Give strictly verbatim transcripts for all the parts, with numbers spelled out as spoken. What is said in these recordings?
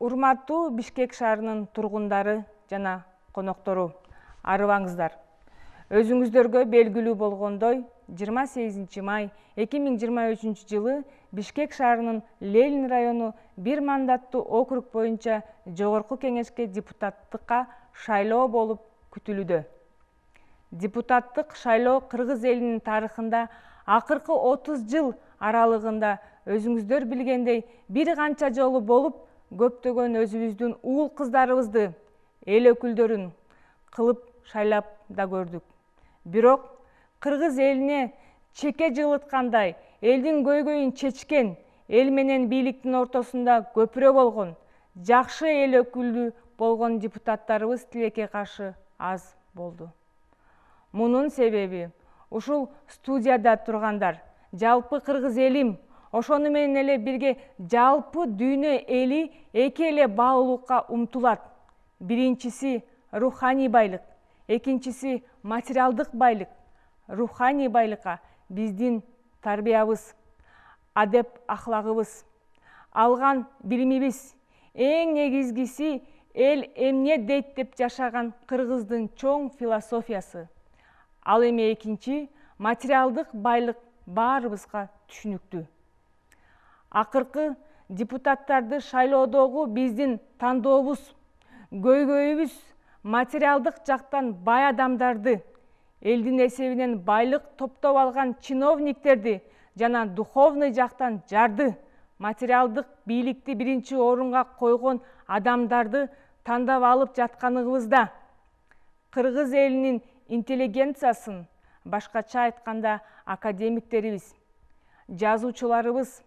Урматтуу Бишкек шаарынын тургундары жана коноктору, арыбаңыздар. Өзүңүздөргө белгилүү болгондой, жыйырма сегизинчи май эки миң жыйырма үчүнчү жылы Бишкек шаарынын Ленин району бир мандаттуу округ боюнча Жогорку кеңешке депутаттыкка шайлоо болуп күтүлүүдө. Депутаттык шайлоо кыргыз элинин тарыхында акыркы отуз жыл аралыгында өзүңүздөр билгендей бир канча жолу болуп, көптөгөн өзүбүздүн уул кыздарыбызды, эл өкүлдөрүн кылып шайлап да көрдүк. Бирок кыргыз элине чеке жылыткандай, элдин көйгөйүн чечкен, эл менен бийликтин ортосунда көпүрө болгон, жакшы эл өкүлү болгон депутаттарыбыз тилекке каршы аз болду. Мунун себеби ушул студияда тургандар, жалпы кыргыз элим, ошону менен эле бирге жалпы дүйнө эли эки эле баалуулукка умтулат. Биринчиси руханий байлык, экинчиси материалдык байлык. Руханий байлыкка биздин тарбиябыз, адеп ахлагыбыз, алган билимибиз, эң негизгиси эл эмне дейт деп жашаган кыргыздын чоң философиясы. Ал эми экинчи материалдык байлык баарыбызга түшүнүктүү. Акыркы депутаттарды шайлоодогу биздин тандообуз, көйгөйүбүз материалдык жактан бай адамдарды, элдин эсебинен байлык топтоп алган чиновниктерди жана духовный жактан жарды, материалдык бийликти биринчи орунга койгон адамдарды тандап алып жатканыбызда, кыргыз элинин интеллигенциясын, башкача айтканда академиктерибиз, жазуучуларыбыз,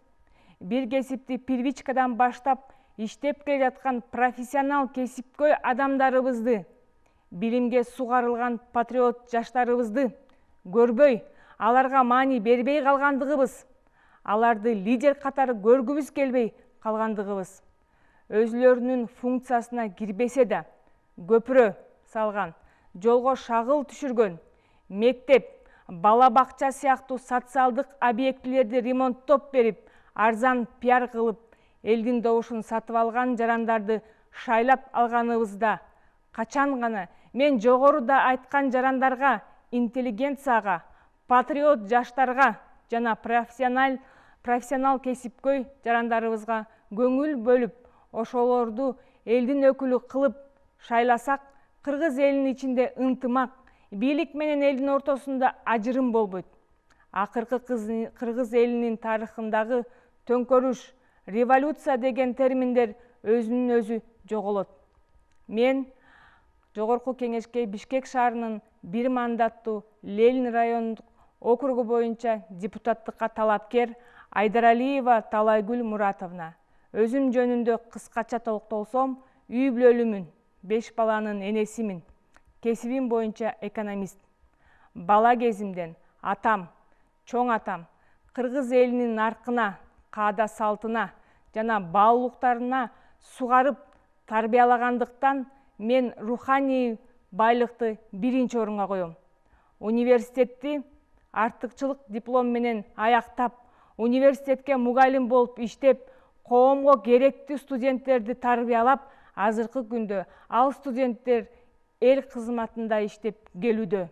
бир кесипти первичкадан баштап иштеп келе жаткан профессионал кесипкөй адамдарыбызды, билимге сугарылган патриот жаштарыбызды көрбөй, аларга маани бербей калгандыгыбыз, аларды лидер катары көргүбүз келбей калгандыгыбыз, өзүлөрүнүн функциясына кирбесе да көпүрө салган, жолго шагыл түшүргөн, мектеп, бала бакча сыяктуу социалдык объектилерди ремонттоп берип, арзан пиар кылып, элдин добушун сатып алган жарандарды шайлап алганыбызда, качан гана мен жогоруда айткан жарандарга, интеллигенцияга, патриот жаштарга жана профессионал профессионал кесипкөй жарандарыбызга көңүл бөлүп, ошолорду элдин өкүлү кылып шайласак, кыргыз элинин ичинде ынтымак, бийлик менен элдин ортосунда ажырым болбойт. Акыркы кыргыз элинин тарыхындагы төңкөрүш, революция деген терминдер өзүнүн өзү жоголот. Мен Жогорку кеңешке Бишкек шаарынын бир мандаттуу Ленин райондук округу боюнча депутаттыкка талапкер Айдаралиева Талайгүл Муратовна. Өзүм жөнүндө кыскача токтолсом, үй бүлөлүмүн, беш баланын энесимин. Кесибим боюнча экономист. Бала кезимден атам, чоң атам кыргыз элинин наркына, каада салтына жана баалуулуктарына сугарып тарбиялагандыктан мен руханий байлыкты биринчи орунга коем. Университетти артыкчылык диплом менен аяктап, университетке мугалим болуп иштеп, коомго керектүү студенттерди тарбиялап, азыркы күндө ал студенттер эл кызматында иштеп келүүдө.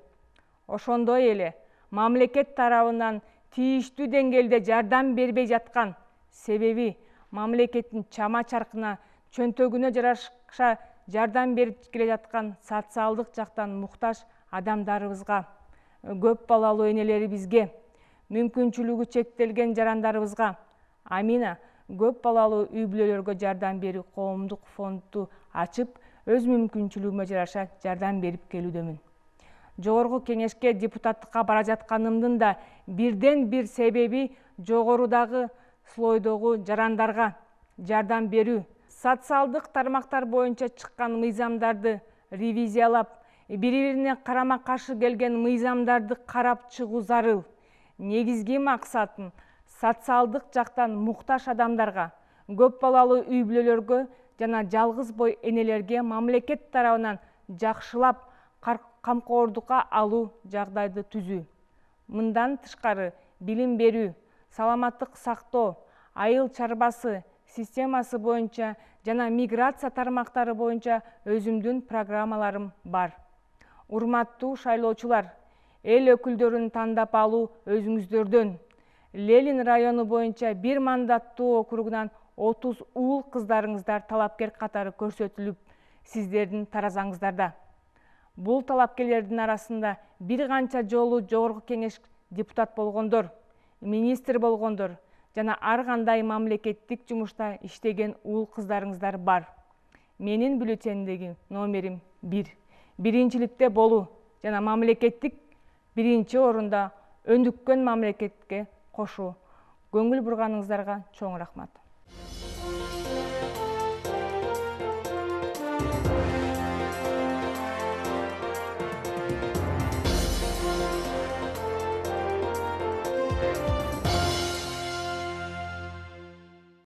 Ошондой эле мамлекет тарабынан тийиштүү деңгээлде жардам бербей жаткан, себеби мамлекеттин чама чаркына, чөнтөгүнө жараша жардам берип келе жаткан социалдык жактан муктаж адамдарыбызга, көп балалуу энелерибизге, мүмкүнчүлүгү чектелген жарандарыбызга, Амина көп балалуу үй бүлөлөргө жардам берүү коомдук фондду ачып, өз мүмкүнчүлүгүмө жараша жардам берип келүүдөмүн. Жогорку кеңешке депутаттыкка бара жатканымдын да бирден бир себеби жогорудагы слойдогу жарандарга жардам берүү, социалдык тармактар боюнча чыккан мыйзамдарды ревизиялап, бири-бирине карама-каршы келген мыйзамдарды карап чыгуу зарыл. Негизги максатым социалдык жактан муктаж адамдарга, көп балалуу үй бүлөлөргө жана жалгыз бой энелерге мамлекет тарабынан жакшылап камкордукка алуу жагдайды түзүү. Мындан тышкары билим берүү, саламаттык сактоо, айыл чарбасы, системасы боюнча жана миграция тармактары боюнча өзүмдүн программаларым бар. Урматтуу шайлоочулар, эл өкүлдөрүн тандап алуу өзүңүздөрдөн. Ленин району боюнча бир мандаттуу округунан отуз уул кыздарыңыздар талапкер катары көрсөтүлүп, сиздердин таразаңыздарда. Бул талапкерлердин арасында бир канча жолу жогорку кеңеш депутат болгондор, министр болгондор жана ар кандай мамлекеттик жумушта иштеген уул кыздарыңыздар бар. Менин бюллетендеги номерим бир. Биринчиликте болуу жана мамлекеттик биринчи орунда өнүккөн мамлекетке кошуу. Көңүл бурганыңыздарга чоң рахмат.